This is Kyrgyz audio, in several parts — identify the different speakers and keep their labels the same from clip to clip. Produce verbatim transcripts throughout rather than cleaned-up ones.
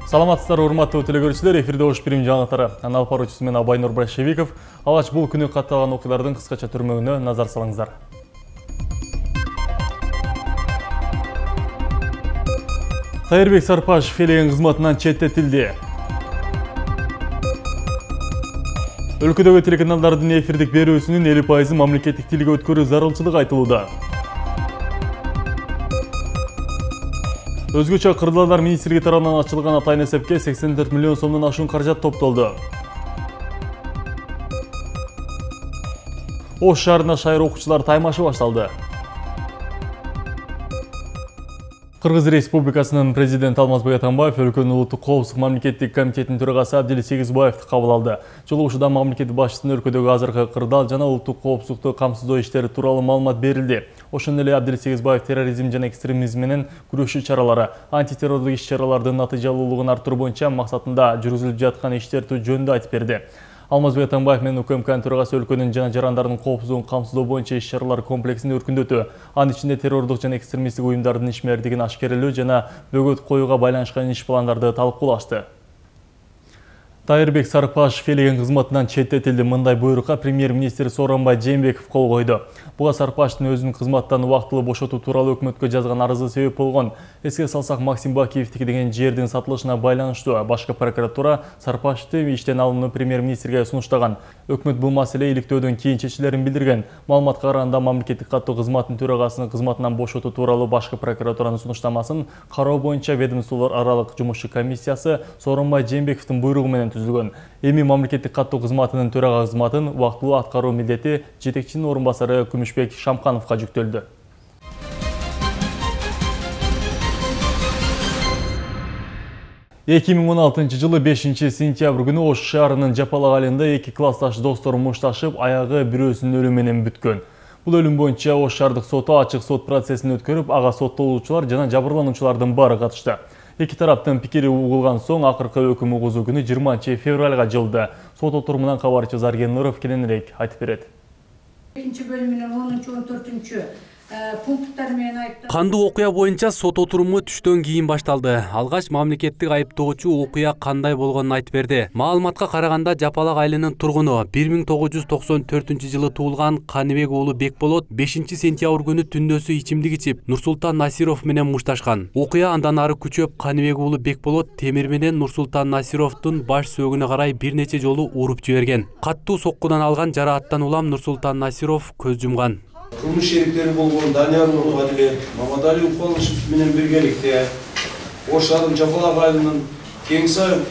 Speaker 1: Саламатсыздар, урматтуу телекөрүүчүлөр, эфирде Ош Бирим жаңалыктары. Анал баруучусу мен Абайнур Брашевиков. Алгач бул күнү катталган окуялардын кыскача түрмөгүнө назар салыңыздар. Тайырбек Сарпашев элеген кызматынан четтетилди. Өлкөдөгү телеканалдардын эфирдик берүүсүнүн элүү пайызы мамлекеттик тилге өткөрүү зарылчылыгы айтылууда. Өзгөчө кырдаалдар министрлиги тарабынан ачылган атайын эсепке сексен төрт миллион сомдон ашуун каражат топтолду. Ош шаарында шайыр окуучулар таймашы башталды. Кыргыз Республикасынын президенти Алмазбек Атамбаев өлкөнүн улуттук коопсуздук мамлекеттик комитетинин төрагасы Абдил Сегизбаевди кабыл алды. Жолугушууда мамлекет башчысынын өлкөдөгү азыркы кырдаал жана улуттук коопсуздукту камсыздоо иштери тууралуу маалымат берилди. Ошондой эле Абдил Сегизбаев терроризм жана экстремизм менен күрөшүү чаралары, антитеррорлук иш-чаралардын натыйжалуулугун арттыруу боюнча максатында жүргүзүлүп жаткан иштерди жөнүндө айтып берди. Алмазбек Атамбаев менен УКМКнын төрагасы өлкөнүн жана жарандардын коопсуздугун камсыздоо боюнча иш-чаралар комплексин өркүндөтүү, анын ичинде террордук жана экстремисттик уюмдардын ишмердигин ашкерелөө жана бөгөт коюуга байланышкан иш пландарды талкуулашты. Тайырбек Сарпашев элеген кызматынан четтетилди. Мындай буйрукка премьер-министр Сооронбай Жээнбеков кол койду. Буга Сарпашевдин өзүнүн кызматтан убактылуу бошотуу тууралуу өкмөткө жазган арызы себеп болгон. Эске салсак, Максим Бакиевдики деген жердин сатылышына байланыштуу башкы прокуратура Сарпашевди иштен алууну премьер-министрге сунуштаган. Өкмөт бул маселе иликтөөдөн кийин чечилерин билдирген. Маалыматка караганда, мамлекеттик каттоо кызматынын төрагасынын кызматынан бошотуу тууралуу башкы прокуратуранын сунуштамасын кароо боюнча ведомстволор аралык жумушчу комиссиясы Сооронбай Жээнбековдун буйругу менен түзүлгөн. Эми мамлекеттик каттоо кызматынын төрага кызматын убактылуу аткаруу милдети жетекчинин орун басары Күмүшбек Шамкановго жүктөлдү. эки миң он алтынчы жылы бешинчи сентябрь күнү Ош шаарынын Жапалак айылында эки классташ достор мушташып, аягы бирөөсүнүн өлүмү менен бүткөн. Бул өлүм боюнча Ош шаардык соту ачык сот процессин өткөрүп, ага соттолуучулар жана жабырлануучулардын баары катышты. Эки тараптын пикири угулган соң акыркы өкүм угузуу күнү жыйырманчы февралга жылды. Сот отурумунан кабарчы Зарген Нуров кененирээк айтып берет.
Speaker 2: экинчи бөлүмүнүн онунчу он төртүнчү пункттар менен айыпталган
Speaker 3: кандуу окуя боюнча сот отуруму түштөн кийин башталды. Алгач мамлекеттик айыптоочу окуя кандай болгонун айтып берди. Маалыматка караганда, Жапалак айылынын тургуну бир миң тогуз жүз токсон төртүнчү жылы туулган Каныбек уулу Бекболот бешинчи сентябрь күнү түндөсү ичимдик ичип, Нурсултан Насиров менен мушташкан. Окуя андан ары күчөп, Каныбек уулу Бекболот темир менен Нурсултан Насировдун баш сөөгүнө карай бир нече жолу уруп жиберген. Каттуу соккудан алган жарааттан улам Нурсултан Насиров көз жумган.
Speaker 4: Кылмыш шериктери болгон Данияр Нургалиев, Мамадали Укалышев менен биргеликте Ош шаарынын Жапалак айылынын Кеңсай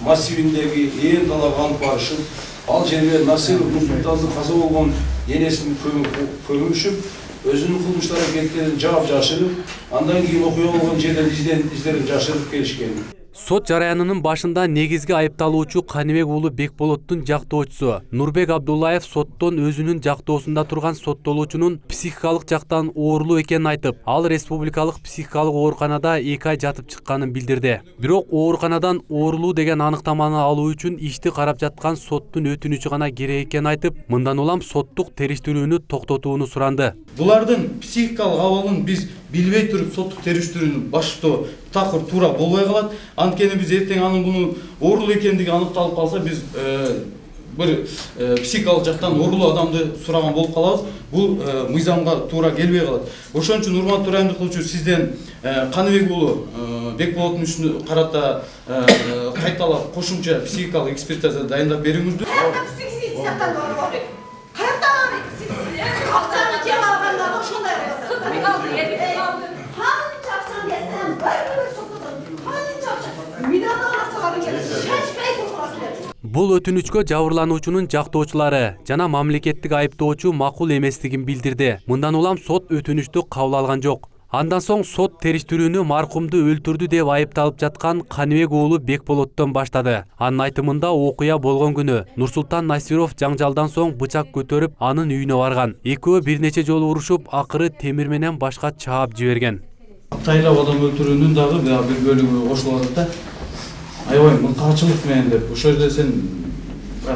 Speaker 4: массивиндеги ээн талап алып барышып, ал жерге Насиров Нурсултандын каза болгон энесин көмүшүп, өзүнүн кылмыштар аракеттерин жаап жашырып, андан кийин окуя болгон жерден издерин жашырып келишкен.
Speaker 3: Сот жараянынын башында негизги айыпталуучу Каныбек уулу Бекболоттун жактоочусу Нурбек Абдуллаев соттон өзүнүн жактоосунда турган соттолуучунун психикалык жактан оорулуу экенин айтып, ал республикалык психикалык ооруканада эки ай жатып чыкканын билдирди. Бирок ооруканадан оорулуу деген аныктаманы алуу үчүн ишти карап жаткан соттун өтүнүчү гана керек экенин айтып, мындан улам соттук териштирүүнү токтотууну суранды.
Speaker 5: Булардын психикалык абалын биз билбей туруп соттук териштирүүнү баштоо такыр туура болбой калат. Анткени биз эртең анын буну оорулуу экендиги аныкталып калса, биз бир психикалык жактан оорулуу адамды сураган болуп калабыз. Бул мыйзамга туура келбей калат. Ошон үчүн урматтуу райондук кылуучу, сизден Каныбек уулу Бекболоттун үстүнө карата кайталап кошумча психикалык экспертиза дайындап бериңиздүү.
Speaker 3: Бул өтүнүчкө жабырлануучунун жактоочулары жана мамлекеттик айыптоочу макул эместигин билдирди. Мындан улам сот өтүнүчтү кабыл алган жок. Андан соң сот териштирүүнү маркумду өлтүрдү деп айыпталып жаткан Каныбек уулу Бекболоттон баштады. Анын айтымында, окуя болгон күнү Нурсултан Насиров жаңжалдан соң бычак көтөрүп анын үйүнө барган. Экөө бир нече жолу урушуп, акыры темир менен башка чаап жиберген.
Speaker 5: Тайлап адам өлтүрүүнүн дагы бир бөлүгү кошулуп атат да. Аябай мыкаачылык менен деп. Ошол жерде сен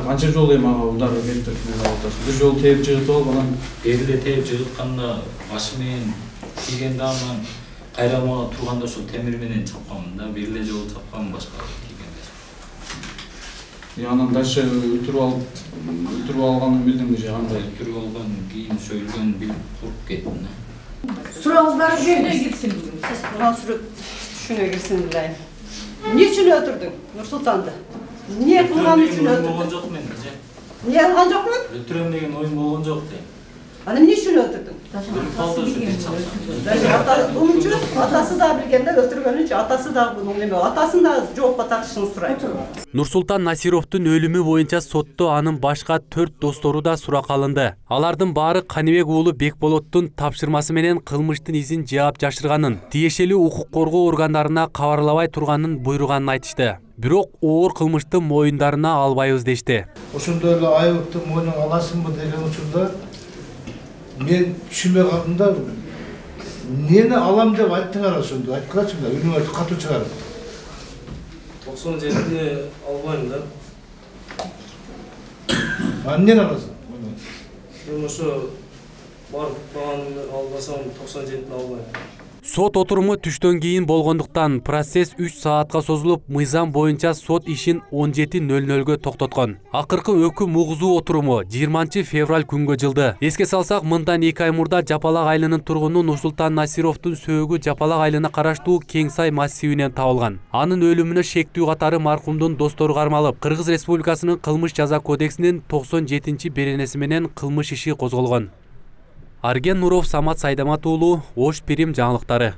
Speaker 5: канча жолу эми ага удар берип менен атасың. Бир жолу тээп жыгытып алып, анан
Speaker 6: бери эле тээп жыгытканда башы менен тийгенде анан кайрамага турганда ошол темир менен чапканмын да, бир эле жолу чапканмын, башка кийген эмес.
Speaker 5: Анан дальше өтүрүп алып, өтүрүп алганын билдимби же кандай?
Speaker 6: Өтүрүп алган, кийин сөйлгөн билип куруп кеттим да.
Speaker 2: Сурагыңыз бар
Speaker 7: Şöyle gitsin. Mansur şuna girsin bilayım. Niçin ötürdün Nursultan'da? Niye kılgan için
Speaker 6: Oyun
Speaker 7: ötürdün?
Speaker 6: болгон жок мен же.
Speaker 7: Niye kılgan yok mu?
Speaker 6: Ötürөм деген oyun болгон жок дейм.
Speaker 7: Hani niçin ötürdün?
Speaker 6: Bilip kaldı şu gün çapsam.
Speaker 7: Ata, bunun için atası da bilgende ötürgönün için atası da bunun neme, atasını da cevapla tartışını sıraydı.
Speaker 3: Нурсултан Насировдун өлүмү боюнча сотто анын башка төрт достору да суракка алынды. Алардын баары Каныбек уулу Бекболоттун тапшырмасы менен кылмыштын изин жаап жашырганын, тиешелүү укук коргоо органдарына кабарлабай турганын буйруганын айтышты. Бирок оор кылмышты моюндарына албайбыз дешти.
Speaker 8: Ошондой эле айыпты мойнуңа аласыңбы деген учурда мен түшүнбөй калдым да. Эмнени алам деп айттыңар ошондо? Айткылачыңдар, үнүңөр катуу чыгарып.
Speaker 9: токсон жетиде албайм да.
Speaker 8: А эмнени аласың?
Speaker 9: Мен ошо барып баганы албасам токсон жетини албайм.
Speaker 3: Сот отуруму түштөн кийин болгондуктан процесс үч саатка созулуп, мыйзам боюнча сот ишин он жети нөл нөлгө токтоткон. Акыркы өкүм угузуу отуруму жыйырманчы февраль күнгө жылды. Эске салсак, мындан эки ай мурда Жапалак айылынын тургуну Нурсултан Насировдун сөөгү Жапалак айылына караштуу Кеңсай массивинен табылган. Анын өлүмүнө шектүү катары маркумдун достору кармалып, Кыргыз Республикасынын кылмыш жаза кодексинин токсон жетинчи беренеси менен кылмыш иши козголгон. Арген Нуров, Самат Сайдамат уулу, Ош Пирим жаңылыктары.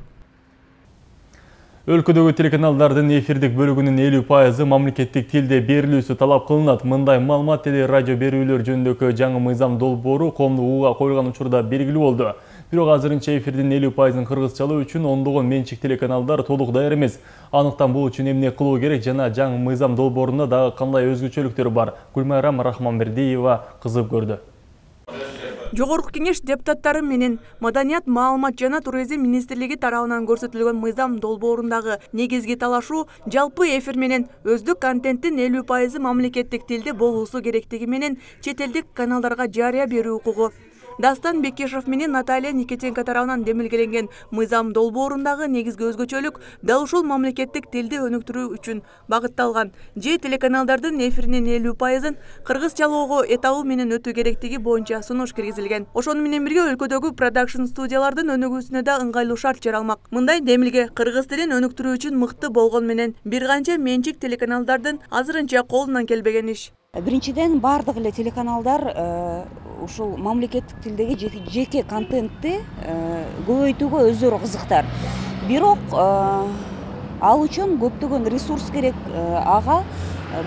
Speaker 1: Өлкөдөгү телеканалдардын эфирдик бөлүгүнүн элүү пайызы мамлекеттик тилде берилүүсү талап кылынат. Мындай маалымат теле радио берүүлөр жөнүндөгү жаңы мыйзам долбоору коомдук угууга коюлган учурда белгилүү болду. Бирок азырынча эфирдин элүү пайызын кыргызчалоо үчүн ондогон менчик телеканалдар толук даяр эмес. Аныктан бул үчүн эмне кылуу керек жана жаңы мыйзам долбоорунда дагы кандай өзгөчөлүктөр бар? Гүлмайрам Рахманбердиева кызып көрдү.
Speaker 10: Жогорку кеңеш депутаттары менен Маданият, маалымат жана туризм министрлиги тарабынан көрсөтүлгөн мыйзам долбоорундагы негизги талашуу жалпы эфир менен өздүк контенттин элүү пайызы мамлекеттик тилде болуусу керектиги менен чет элдик каналдарга жарыя берүү укугу. Дастан Бекешев менен Наталья Никитенко тарабынан демилгеленген мыйзам долбоорундагы негизги өзгөчөлүк дал ушул мамлекеттик тилди өнүктүрүү үчүн багытталган. Же телеканалдардын эфиринин элүү пайызын кыргызчалоого этабы менен өтүү керектиги боюнча сунуш киргизилген. Ошону менен бирге өлкөдөгү продакшн студиялардын өнүгүүсүнө да ыңгайлуу шарт жаралмак. Мындай демилге кыргыз тилин өнүктүрүү үчүн мыкты болгон менен бир канча менчик телеканалдардын азырынча колунан келбеген иш.
Speaker 11: Биринчиден бардык эле телеканалдар ушул мамлекеттик тилдеги жеке контентти көбөйтүүгө өздөрү кызыктар. Бирок ал үчүн көптөгөн ресурс керек. Ага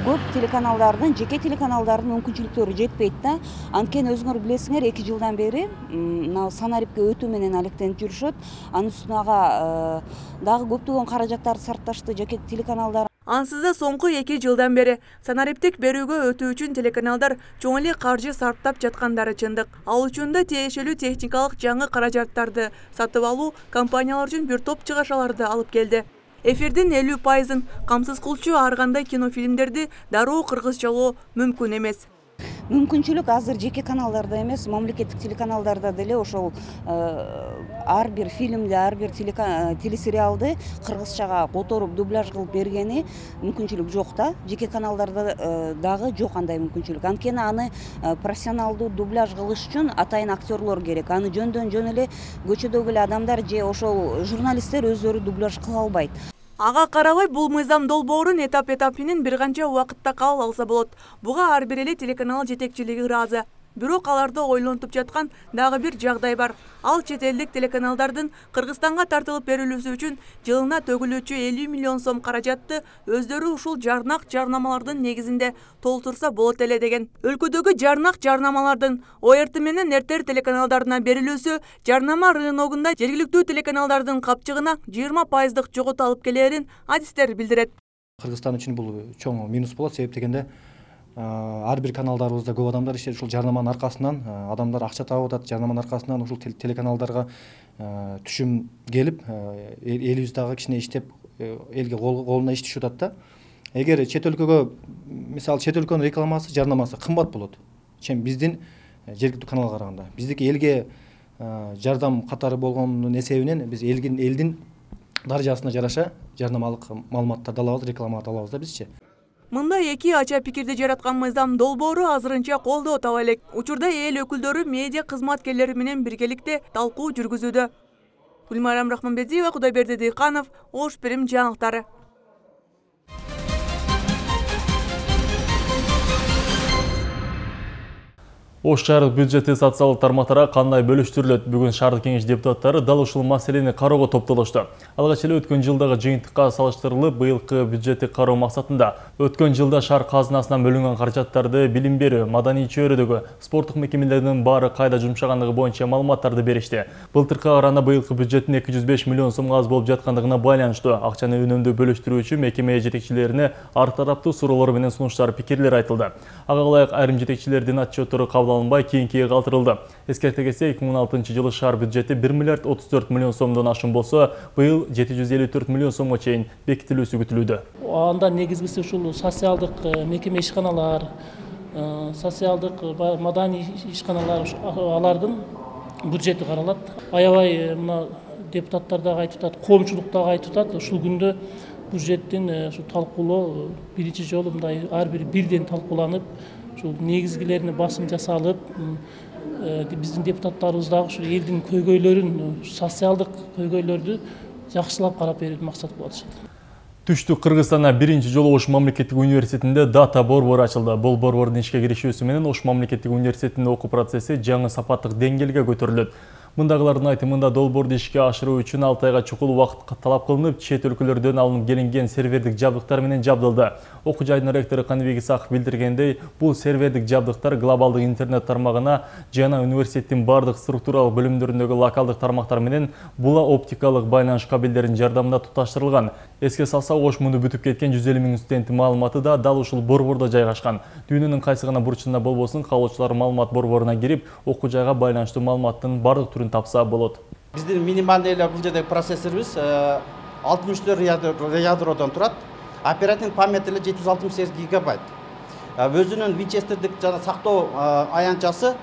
Speaker 11: көп телеканалдардын, жеке телеканалдардын мүмкүнчүлүктөрү жетпейт да. Анткени өзүңөр билесиңер, эки жылдан бери мына санарипке өтүү менен алектенип жүрүшөт. Анын үстүнө ага дагы көптөгөн каражаттарды сарпташты жеке телеканалдар.
Speaker 10: Ансыз да соңку эки жылдан бери санариптик берүүгө өтүү үчүн телеканалдар чоң эле каржы сарптап жаткандары чындык. Ал үчүн да тиешелүү техникалык жаңы каражаттарды сатып алуу компаниялар үчүн бир топ чыгашаларды алып келди. Эфирдин элүү пайызын камсыз кылчу ар кандай кинофильмдерди дароо кыргызчалоо мүмкүн эмес.
Speaker 11: Мүмкүнчүлүк азыр жеке каналдарда эмес, мамлекеттик телеканалдарда деле ошол ар бир фильмди, ар бир телесериалды кыргызчага которуп дубляж кылып бергени мүмкүнчүлүк жок да. Жеке каналдарда дагы жок андай мүмкүнчүлүк. Анткени аны профессионалдуу дубляж кылыш үчүн атайын актерлор керек. Аны жөндөн жөн эле көчөдөгү эле адамдар же ошол журналисттер өздөрү дубляж кыла албайт.
Speaker 10: Ага карабай бул мыйзам долбоорун этап-этап менен бир канча убакытта кабыл алса болот. Буга ар бир эле телеканал жетекчилиги ыраазы. Бирок аларды ойлонтуп жаткан дагы бир жагдай бар. Ал чет элдик телеканалдардын Кыргызстанга тартылып берилүүсү үчүн жылына төгүлүүчү элүү миллион сом каражатты өздөрү ушул жарнак жарнамалардын негизинде толтурса болот эле деген. Өлкөдөгү жарнак жарнамалардын О Р Т менен Р Т Р телеканалдарына берилүүсү жарнама рыногунда жергиликтүү телеканалдардын капчыгына жыйырма пайыздык жоготу алып келерин адистер билдирет.
Speaker 12: Кыргызстан үчүн бул чоң минус болот, себеп дегенде ар бир каналдарыбызда көп адамдар иштейт. Ушул жарнаманын аркасынан адамдар акча табып атат. Жарнаманын аркасынан ушул телеканалдарга түшүм келип, элибиз дагы кичине иштеп, элге колуна иш түшүп атат да. Эгер чет өлкөгө, мисалы чет өлкөнүн рекламасы, жарнамасы кымбат болот, чем биздин жергиликтүү каналга караганда. Биздики элге жардам катары болгонунун эсебинен биз элдин элдин даражасына жараша жарнамалык маалыматтарды алабыз, рекламаларды алабыз да бизчи.
Speaker 10: Мындай эки ача пикирди жараткан мыйзам долбоору азырынча колдоо таба элек. Учурда эл өкүлдөрү медиа кызматкерлери менен биргеликте талкуу жүргүзүүдө. Гүлмайрам Рахманбетиева, Кудайберди Дыйканов, Ош Перим жаңылыктары.
Speaker 1: Ош шаардык бюджети социалдык тармактарга кандай бөлүштүрүлөт? Бүгүн шаардык кеңеш депутаттары дал ушул маселени кароого топтолушту. Алгач эле өткөн жылдагы жыйынтыкка салыштырылып, быйылкы бюджетти кароо максатында өткөн жылда шаар казынасынан бөлүнгөн каражаттарды билим берүү, маданий чөйрөдөгү спорттук мекемелердин баары кайда жумшагандыгы боюнча маалыматтарды беришти. Былтыркыга караганда быйылкы бюджеттин эки жүз беш миллион сомго аз болуп жаткандыгына байланыштуу. Акчаны үнөмдүү бөлүштүрүү үчүн мекеме жетекчилерине ар тараптуу суроолор менен сунуштар, пикирлер айтылды. Ага ылайык айрым жетекчилердин отчеттору кабыл алынбай кийинкиге калтырылды. Эскерте кетсек, эки миң он алтынчы жылы шаар бюджети бир миллиард отуз төрт миллион сомдон ашым болсо, быйыл жети жүз элүү төрт миллион сомго чейин бекитилүүсү күтүлүүдө.
Speaker 13: Анда негизгиси ушул социалдык мекеме ишканалар, социалдык маданий ишканалар, алардын бюджети каралат. Аябай мына депутаттар дагы айтып атат, коомчулук дагы айтып атат. Ушул күндө бюджеттин ушу талкуулоо биринчи жолу мындай ар бир бирден талкууланып, ушул негизгилерине басым жасалып, биздин депутаттарыбыз дагы ушу элдин көйгөйлөрүн, социалдык көйгөйлөрдү жакшылап карап берүүнү максат кылып атышат.
Speaker 1: Түштүк Кыргызстанда биринчи жолу Ош мамлекеттик университетинде дата борбору ачылды. Бул борбордун ишке киришүүсү менен Ош мамлекеттик университетинде окуу процесси жаңы сапаттык деңгээлге көтөрүлөт. Мындагылардын айтымында долбоорду ишке ашыруу үчүн алты айга чукул убакыт талап кылынып, чет өлкөлөрдөн алынып келинген сервердик жабдыктар менен жабдылды. Окуу жайдын ректору Каныбек Исаков билдиргендей, бул сервердик жабдыктар глобалдык интернет тармагына жана университеттин бардык структуралык бөлүмдөрүндөгү локалдык тармактар менен була оптикалык байланыш кабелдеринин жардамында туташтырылган. Эске салсак, Ош мунду бүтүп кеткен жүз элүү миң студенттин маалыматы да дал ушул борбордо жайгашкан. Дүйнөнүн кайсы гана бурчунда болбосун, каалоочулар маалымат борборуна кирип, окуу жайга байланыштуу маалыматтын бардык түрүн тапса болот.
Speaker 14: Биздин минималдуу эле бул жердеги процессорубуз алтымыш төрт ядродон турат. Оперативдик память эле жети жүз алтымыш сегиз гигабайт. Өзүнүн Винчестердик жана сактоо аянтчасы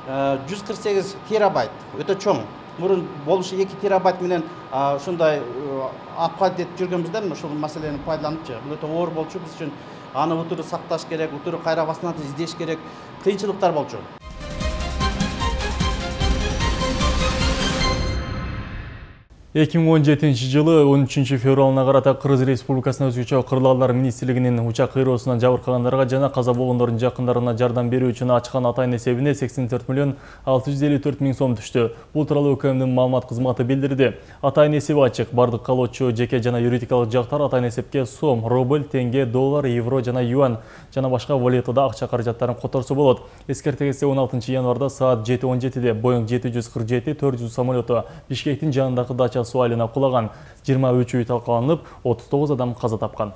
Speaker 14: жүз кырк сегиз терабайт. Өтө чоң. Мурун болушу эки терабайт менен ушундай апгрейд этип жүргөнбүз да, ушул маселени пайдаланып, бул өтө оор болчу биз үчүн. Аны утуру сакташ керек, утуру кайра басынат издеш керек, кыйынчылыктар болчу.
Speaker 1: эки миң он жетинчи жылы он үчүнчү февралына карата Кыргыз Республикасынын өзгөчө кырлалар министрлигинин учак кыйроосунан жабыркагандарга жана каза болгондордун жакындарына жардам берүү үчүн ачкан атайын эсебине сексен төрт миллион алты жүз элүү төрт миң сом түштү. Бул тууралуу УКМдин маалымат кызматы билдирди. Атайын эсеби ачык. Бардык калоочу жеке жана юридикалык жактар атайын эсепке сом, рубль, тенге, доллар, евро жана юань жана башка валютада акча каражаттарын которсо болот. Эскерте кетсек, он алтынчы январда саат жети он жетиде Боинг жети жүз кырк жети төрт жүз самолету Бишкектин жанындагы дача суу айылына кулаган. жыйырма үч үй талкаланып, отуз тогуз адам каза тапкан.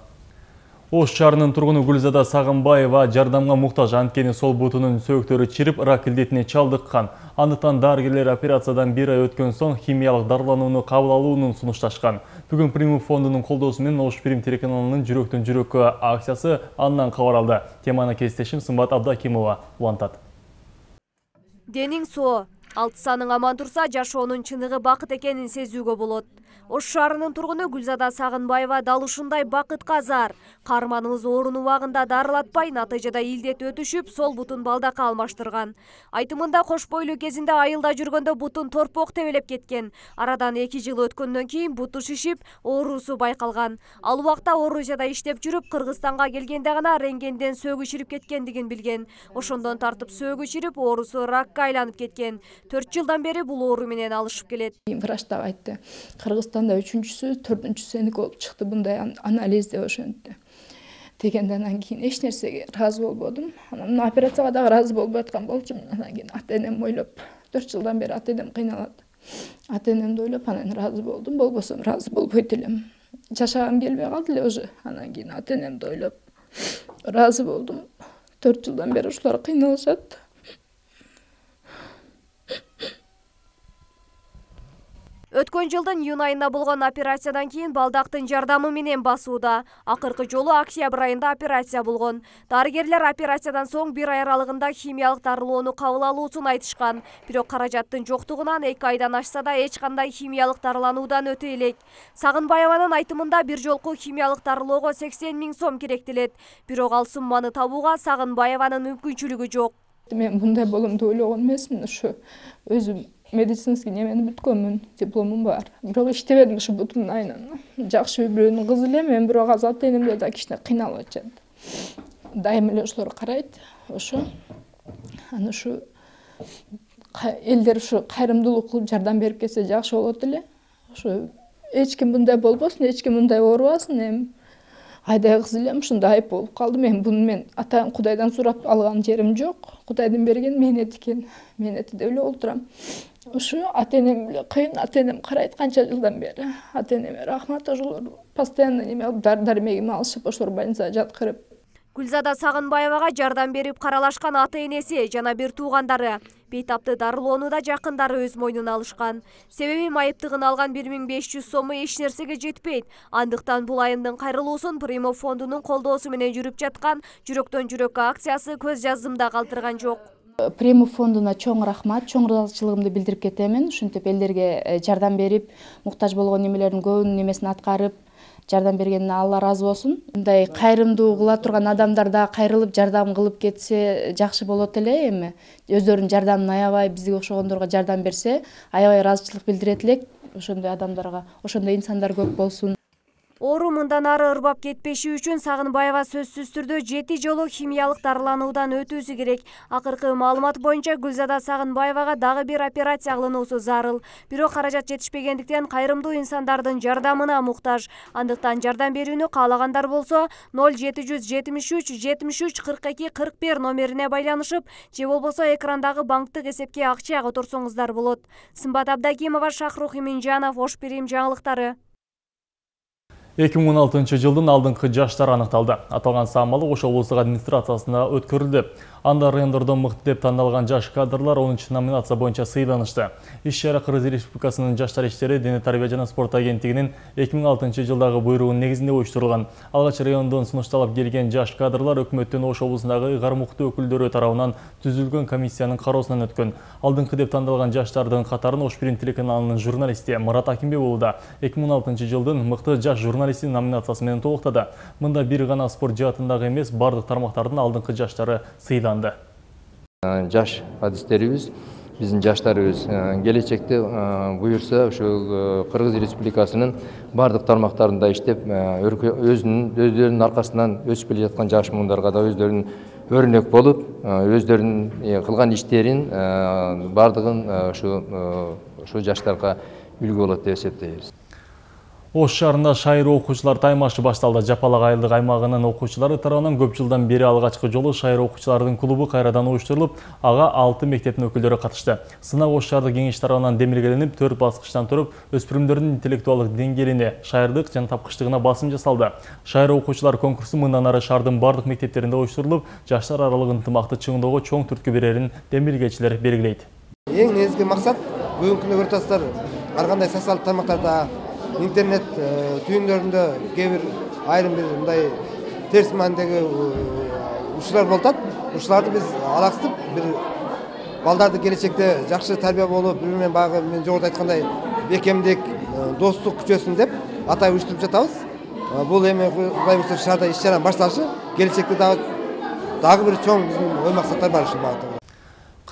Speaker 1: Ош шаарынын тургуну Гүлзада Сагынбаева жардамга муктаж, анткени сол бутунун сөөктөрү чирип, рак илдетине чалдыккан. Андыктан дарыгерлер операциядан бир ай өткөн соң химиялык дарыланууну кабыл алууну сунушташкан. Бүгүн Примум фондунун колдоосу менен Ош Прим телеканалынын жүрөктөн жүрөккө акциясы андан кабар алды. Теманы кесиптешим Сымбат Абдакимова улантат.
Speaker 15: Денин соо. Алтысаның аман турса, жашоонун чыныгы бакыт экенин сезүүгө болот. Ош шаарынын тургуну Гүлзада Сагынбаева дал ушундай бакытка зар. Каарманыбыз оорун убагында дарылатпай, натыйжада илдет өтүшүп, сол бутун балдакка алмаштырган. Айтымында кош бойлуу кезинде айылда жүргөндө бутун торпок тебелеп кеткен. Арадан эки жыл өткөндөн кийин буту шишип, оорусу байкалган. Ал убакта Орусияда иштеп жүрүп, Кыргызстанга келгенде гана рентгенден сөөгү чирип кеткендигин билген. Ошондон тартып сөөгү чирип, оорусу ракка айланып кеткен. төрт жылдан бери бул оору менен алышып келет.
Speaker 16: Врач да айтты. Кыргызстанда үчүнчүсү, төртүнчүсү сеники болуп чыкты, мындай анализ деп ошентти. Дегенден анан кийин эч нерсеге ыраазы болбодум. Анан операцияга да ыраазы болбой аткан болчумун. Анан кийин ата энем ойлоп, төрт жылдан бери ата энем кыйналат. Ата энемди ойлоп, анан ыраазы болдум. Болбосо ыраазы болбойт элем. Жашагым келбей калды эле уже. Анан кийин ата энемди ойлоп ыраазы болдум. төрт жылдан бери ушулар кыйналышат.
Speaker 15: Өткөн жылдын июнь айында болгон операциядан кийин балдактын жардамы менен басууда. Акыркы жолу октябрь айында операция болгон. Дарыгерлер операциядан соң бир ай аралыгында химиялык дарылоону кабыл алуусун айтышкан. Бирок каражаттын жоктугунан эки айдан ашса да эч кандай химиялык дарылануудан өтө элек. Сагынбаеванын айтымында бир жолку химиялык дарылоого сексен миң сом керектелет. Бирок ал сумманы табууга Сагынбаеванын мүмкүнчүлүгү жок.
Speaker 16: Мен мындай боломду ойлогон эмесмин. Ушу өзүм медицинский немени бүткөнмүн, дипломум бар. Бирок иштебедим ушу бутумдун айынан. Жакшы бирөөнүн кызы эле, мен бирок азыр ата энемде да кичине кыйналып атышат. Дайым эле ошолор карайт. Ошо аны ушу элдер ушу кайрымдуулук кылып жардам берип кетсе жакшы болот эле. Ошо эч ким мындай болбосун, эч ким мындай оорубасын. Эми айдай кыз элем, ушундай айып болуп калды. Мен буну мен ата Кудайдан сурап алган жерим жок. Кудайдын берген мээнети экен. Мээнети деп эле олтурам. Ушу ата энем эле кыйын, ата энем карайт канча жылдан бери. Ата энеме рахмат, ошолор постоянно неме алып, дар-дармегим алышып, ошолор больницага жаткырып.
Speaker 15: Гүлзада Сагынбаевага жардам берип каралашкан ата энеси жана бир туугандары бейтапты дарылоону да жакындары өз мойнуна алышкан. Себеби майыптыгын алган бир миң беш жүз сому эч нерсеге жетпейт. Андыктан бул айымдын кайрылуусун Примов фондунун колдоосу менен жүрүп жаткан Жүрөктөн жүрөккө акциясы көз жаздымда калтырган жок.
Speaker 17: Примов фондуна чоң рахмат, чоң ыраазычылыгымды билдирип кетемин. Ушинтип элдерге жардам берип, муктаж болгон немелердин көбүнүн немесин аткарып, жардам бергенине Алла ыраазы болсун. Мындай кайрымдуу кыла турган адамдар да кайрылып жардам кылып кетсе жакшы болот эле. Эми өздөрүнүн жардамын аябай бизге окшогондорго жардам берсе, аябай ыраазычылык билдирет элек. Ошондой адамдарга, ошондой инсандар көп болсун.
Speaker 15: Оору мындан ары ырбап кетпеши үчүн Сагынбаева сөзсүз түрдө жети жолу химиялык дарылануудан өтүүсү керек. Акыркы маалымат боюнча Гүлзада Сагынбаевага дагы бир операция кылынуусу зарыл. Бирок каражат жетишпегендиктен кайрымдуу инсандардын жардамына муктаж. Андыктан жардам берүүнү каалагандар болсо ноль жети жүз жетимиш үч жетимиш үч кырк эки кырк бир номерине байланышып, же болбосо экрандагы банктык эсепке акча которсоңуздар болот. Сымбат Абдакимова, Шахрух Иминжанов, Ош Бирим жаңылыктары.
Speaker 1: эки миң он алтынчы жылдын алдыңкы жаштары аныкталды. Аталган самалы Ош облустук администрациясына өткөрүлдү. Анда райондордон мыкты деп тандалган жаш кадрлар онунчу номинация боюнча сыйланышты. Иш-чара Кыргыз Республикасынын Жаштар иштери, Дене тарбия жана спорт агенттигинин эки миң алтынчы жылдагы буйругунун негизинде уюштурулган. Алгач райондон сунушталып келген жаш кадрлар өкмөттүн Ош облусундагы ыйгар мукты өкүлдөрү тарабынан түзүлгөн комиссиянын кароосунан өткөн. Алдыңкы деп тандалган жаштардын катарын Ош Бирим телеканалынын журналисти Мурат Акимбек уулу да эки миң он алтынчы жылдын мыкты жаш журналисти номинациясы менен толуктады. Мында бир гана спорт жаатындагы эмес, бардык тармактардын алдыңкы жаштары сыйланды.
Speaker 18: Жаш адистерибиз, биздин жаштарыбыз келечекте буюрса ушул Кыргыз Республикасынын бардык тармактарында иштеп, өзүнүн өздөрүнүн аркасынан өсүп келе жаткан жаш муундарга да өздөрүнүн өрнөк болуп, өздөрүнүн кылган иштерин бардыгын ушу жаштарга үлгү болот деп эсептейбиз.
Speaker 1: Ош шаарында шайыр окуучулар таймашы башталды. Жапалак айылдык аймагынын окуучулары тарабынан көп жылдан бери алгачкы жолу шайыр окуучулардын клубу кайрадан уюштурулуп, ага алты мектептин өкүлдөрү катышты. Сынак Ош шаардык кеңеш тарабынан демилгеленип, төрт баскычтан туруп, өспүрүмдөрдүн интеллектуалдык деңгээлине, шаардык жана тапкычтыгына басым жасалды. Шайыр окуучулар конкурсу мындан ары шаардын бардык мектептеринде уюштурулуп, жаштар аралык ынтымакты чыңдоого чоң түрткү берерин демилгечилер белгилейт.
Speaker 19: Эң негизги максат бүгүнкү күндө көрүп атасыздар, ар кандай социалдык тармактарда, интернет түйүндөрүндө кээ бир айрым бир мындай терс маанидеги учурлар болуп атат. Ушуларды биз алаксытып, бир балдарды келечекте жакшы тарбия болуп, бири менен баягы мен жогоруда айткандай бекемдик, достук күчөсүн деп атай уюштуруп жатабыз. Бул эми Кудай буйрса шаарда иш-чаранын башталышы, келечекте дагы дагы бир чоң биздин ой максаттар бар ушул багытта.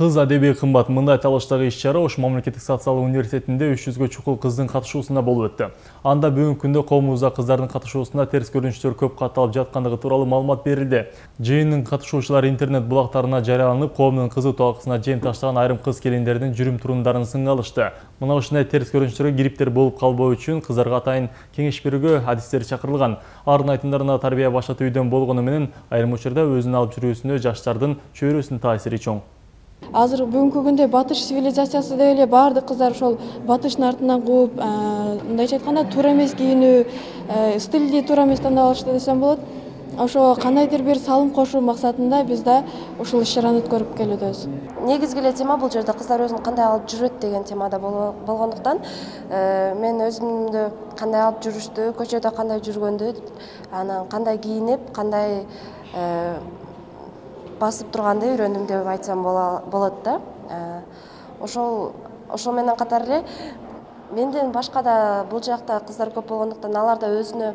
Speaker 1: Кыз адеби кымбат мындай талаштагы иш-чара Ош мамлекеттик социалдык университетинде үч жүзгө чукул кыздын катышуусунда болуп өттү. Анда бүгүнкү күндө коомубузда кыздардын катышуусунда терс көрүнүштөр көп катталып жаткандыгы тууралуу маалымат берилди. Жыйындын катышуучулары интернет булактарына жарыяланып, коомдун кызуу талкысына жем таштаган айрым кыз келиндердин жүрүм-турундарын сынга алышты. Мына ушундай терс көрүнүштөргө кириптер болуп калбоо үчүн кыздарга атайын кеңеш берүүгө адистер чакырылган. Ардын айтымдарына тарбия башат үйдөн болгону менен айрым учурда өзүн алып жүрүүсүнө жаштардын чөйрөсүнүн таасири чоң.
Speaker 20: Азыр бүгүнкү күндө батыш цивилизациясы деп эле баардык кыздар ошол батыштын артынан кууп, мындайча айтканда туура эмес кийинүү, стилди туура эмес тандап алышты десем болот. ошо кандайдыр бир салым кошуу максатында биз да ушул иш чараны өткөрүп келүүдөбүз.
Speaker 21: Негизги эле тема бул жерде кыздар өзүн кандай алып жүрөт деген темада болгондуктан мен өзүмдү кандай алып жүрүштү, көчөдө кандай жүргөндү, анан кандай кийинип, кандай басып турганды үйрөндүм деп айтсам болот да. Ошол ошол менен катар эле менден башка да бул жакта кыздар көп болгондуктан алар да өзүнө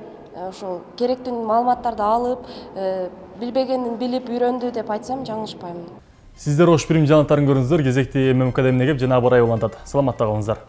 Speaker 21: ошол керектүү маалыматтарды алып, билбегенин билип үйрөндү деп айтсам жаңылышпайм.
Speaker 1: Сиздер ош бирим жаңылыктарын көрүңүздөр. Кезекти ММК эмне кеп жана абар ай улантат. Саламатта калыңыздар.